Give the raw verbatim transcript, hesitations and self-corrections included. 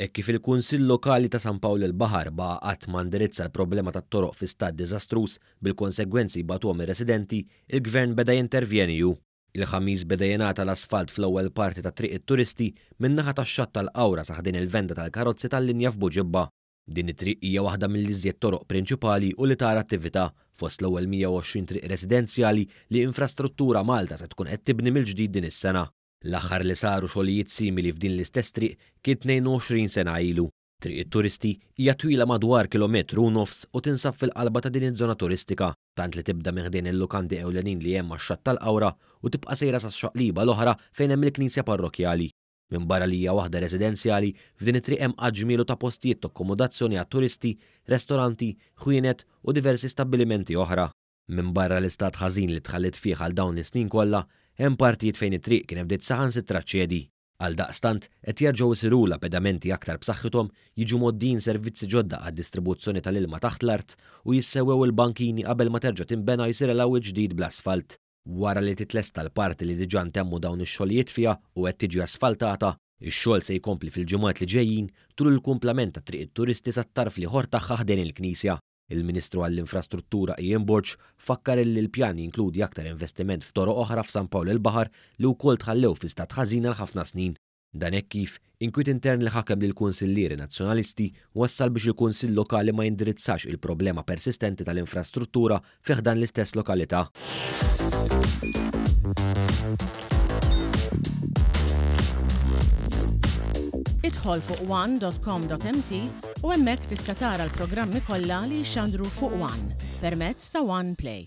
Hekk kif il-Kunsill Lokali ta' San Pawl il-Baħar baqa' qatt ma indirizza l-problema tat-toroq fi stat diżastruż bil-konsegwenzi jbatuhom ir-residenti, il-Gvern beda jintervjeni hu. Il-Ħamis beda jingħata l-asfalt fl-ewwel parti ta' Triq it-Turisti min-naħa tax-xatt tal-Qawra sa ħdejn il-venda tal-karozzi tal-linja f'Buġibba. Din it-triq hija waħda mill-iżjed toroq prinċipali u li tara attività fost l-ewwel mija u għoxrin triq residenzjali li Infrastruttura Malta se tkun qed tibni mill-ġdid din is-sena. L-aħħar li saru xogħlijiet simili f'din l-istess triq kien tnejn u għoxrin sena ilu. Triq it-Turisti hija twila madwar kilometru u nofs u tinsab fil-qalba ta' din iż-żona turistika, tant li tibda minn ħdejn il-lukandi ewlenin li hemm max-xatt tal-Qawra u tibqa' sejra sax-xaqliba l-oħra fejn hemm il-knisja parrokkjali. Minbarra li hija waħda residenzjali, f'din it-triq hemm għadd ġmielu ta' postijiet ta' akkomodazzjoni għat-turisti, restoranti, ħwienet u diversi stabbilimenti oħra. Minbarra l-istat ħażin li tħalliet fih għal dawn is-snin kollha, hemm partijiet fejn it-triq kien bdiet saħansitra ċedi. Għal daqstant, qed jerġgħu jsirulha pedamenti aktar b'saħħithom, jiġu mgħoddijin servizzi ġodda għad-distribuzzjoni tal-ilma taħt l-art u jissewwew il-bankini qabel ma terġa' tinbena jsir il ġdid bl-asfalt. Wara li titlesta l-parti li diġà ntemmu dawn ix-xogħlijiet fiha u qed tiġi asfaltata, ix-xogħol se jkompli fil-ġimgħat li ġejjin tul il-kumplament ta' Triq it-Turisti sat-tarf l-ieħor tagħha ħdejn il-Knisja. Il-Ministru għall-Infrastruttura Ian Borg fakkar li l-pjan jinkludi aktar investiment f'toroq oħra f'San Pawl il-Baħar li wkoll tħallew fi stat ħażin għal ħafna snin. Dan hekk kif inkwiet intern li ħakem lill-kunsillieri nazzjonalisti wassal biex il-Kunsill Lokali ma jindirizzax il-problema persistenti tal-infrastruttura fi ħdan l-istess lokalità. Idħol fuq one dot com dot m t u hemmhekk tista' tara l-programmi kollha li jxandru fuq One permezz ta' One Play.